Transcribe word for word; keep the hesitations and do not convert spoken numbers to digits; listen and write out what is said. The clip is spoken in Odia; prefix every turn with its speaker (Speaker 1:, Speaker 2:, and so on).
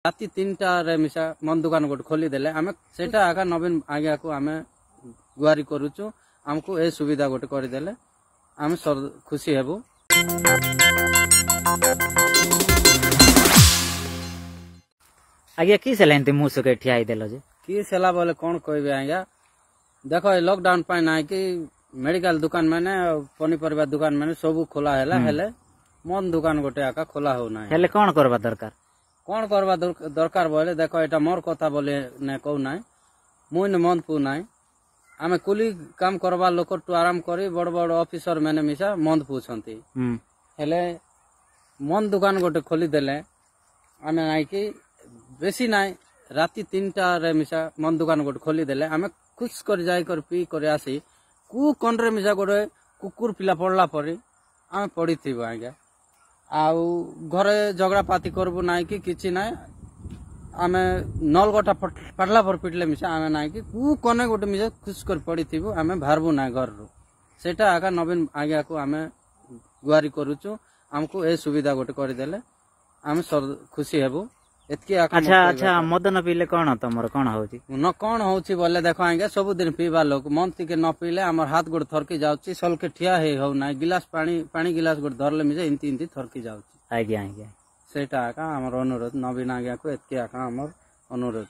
Speaker 1: ରାତି ତିନିଟାରେ ମିଶା ମଦ ଦୋକାନ ଗୋଟେ ଖୋଲିଦେଲେ, ଆମେ ସେଇଟା ଆକା ନବୀନ ଆଜ୍ଞାକୁ ଆମେ ଗୁହାରି କରୁଛୁ। ଆମକୁ ଏ ସୁବିଧା ଗୋଟେ କରିଦେଲେ ଆମେ ଖୁସି ହେବୁ।
Speaker 2: ଆଜ୍ଞା, କି ସେଲା ଏମିତି ମୁଁହ ଶୁଖେଇ ଠିଆ ହେଇଦେଲ ଯେ?
Speaker 1: କି ସେଲା ବୋଲେ କଣ କହିବେ ଆଜ୍ଞା, ଦେଖ, ଏ ଲକଡାଉନ ପାଇଁ ନାହିଁ କି ମେଡିକାଲ ଦୋକାନ ମାନେ, ପନିପରିବା ଦୋକାନ ମାନେ ସବୁ ଖୋଲା ହେଲା, ହେଲେ ମଦ ଦୋକାନ ଗୋଟେ ଏକା ଖୋଲା ହଉନାହିଁ।
Speaker 2: ହେଲେ କଣ କରିବା ଦରକାର?
Speaker 1: କଣ କରିବା ଦରକାର ବୋଇଲେ, ଦେଖ, ଏଇଟା ମୋର କଥା ବୋଲି ନାଇଁ କହୁନାହିଁ, ମୁଇଁ ମଦ ପିଉନାହିଁ। ଆମେ କୁଲି କାମ କରବା ଲୋକଠୁ ଆରାମ କରି ବଡ ବଡ ଅଫିସର ମାନେ ମିଶା ମଦ ପିଉଛନ୍ତି। ହେଲେ ମଦ ଦୋକାନ ଗୋଟେ ଖୋଲିଦେଲେ ଆମେ ନାଇଁ କି ବେଶୀ ନାଇଁ, ରାତି ତିନିଟାରେ ମିଶା ମଦ ଦୋକାନ ଗୋଟେ ଖୋଲିଦେଲେ ଆମେ ଖୁସ୍ କରି ଯାଇକରି ପିଇ କରି ଆସି କୁ କନରେ ମିଶା ଗୋଟେ କୁକୁର ପିଲା ପଡିଲା ପରି ଆମେ ପଡିଥିବୁ ଆଜ୍ଞା। ଆଉ ଘରେ ଝଗଡ଼ା ପାତି କରିବୁ ନାହିଁ କି କିଛି ନାହିଁ। ଆମେ ନଲଗଟା ଫାଟିଲା ପରେ ପିଟିଲେ ମିଶା ଆମେ ନାହିଁ କି କୁ କନେ ଗୋଟେ ମିଶା ଖୁସ୍ କରି ପଡିଥିବୁ, ଆମେ ବାହାରିବୁ ନାହିଁ ଘରରୁ। ସେଇଟା ଆକା ନବୀନ ଆଜ୍ଞାକୁ ଆମେ ଗୁହାରି କରୁଛୁ। ଆମକୁ ଏ ସୁବିଧା ଗୋଟେ କରିଦେଲେ ଆମେ ଖୁସି ହେବୁ, ଏତିକି।
Speaker 2: ଆଚ୍ଛା ଆଚ୍ଛା, ମଦ ନ ପିଇଲେ କଣ ତମର କଣ ହଉଛି?
Speaker 1: ନ କଣ ହଉଛି ବୋଲେ, ଦେଖ ଆଜ୍ଞା, ସବୁଦିନ ପିଇବା ଲୋକ ମଦ ଟିକେ ନ ପିଇଲେ ଆମର ହାତ ଗୋଡ ଥରକି ଯାଉଛି, ସଲକେ ଠିଆ ହେଇ ହଉନାହିଁ। ଗିଲାସ ପାଣି ପାଣି ଗିଲାସ ଗୋଟେ ଧରିଲେ ମିଶେ ଏମିତି ଏମିତି ଥରକି ଯାଉଛି।
Speaker 2: ଆଜ୍ଞା ଆଜ୍ଞା,
Speaker 1: ସେଇଟା ଏକା ଆମର ଅନୁରୋଧ ନବୀନ ଆଜ୍ଞାକୁ, ଏତିକି ଏକା ଆମର ଅନୁରୋଧ।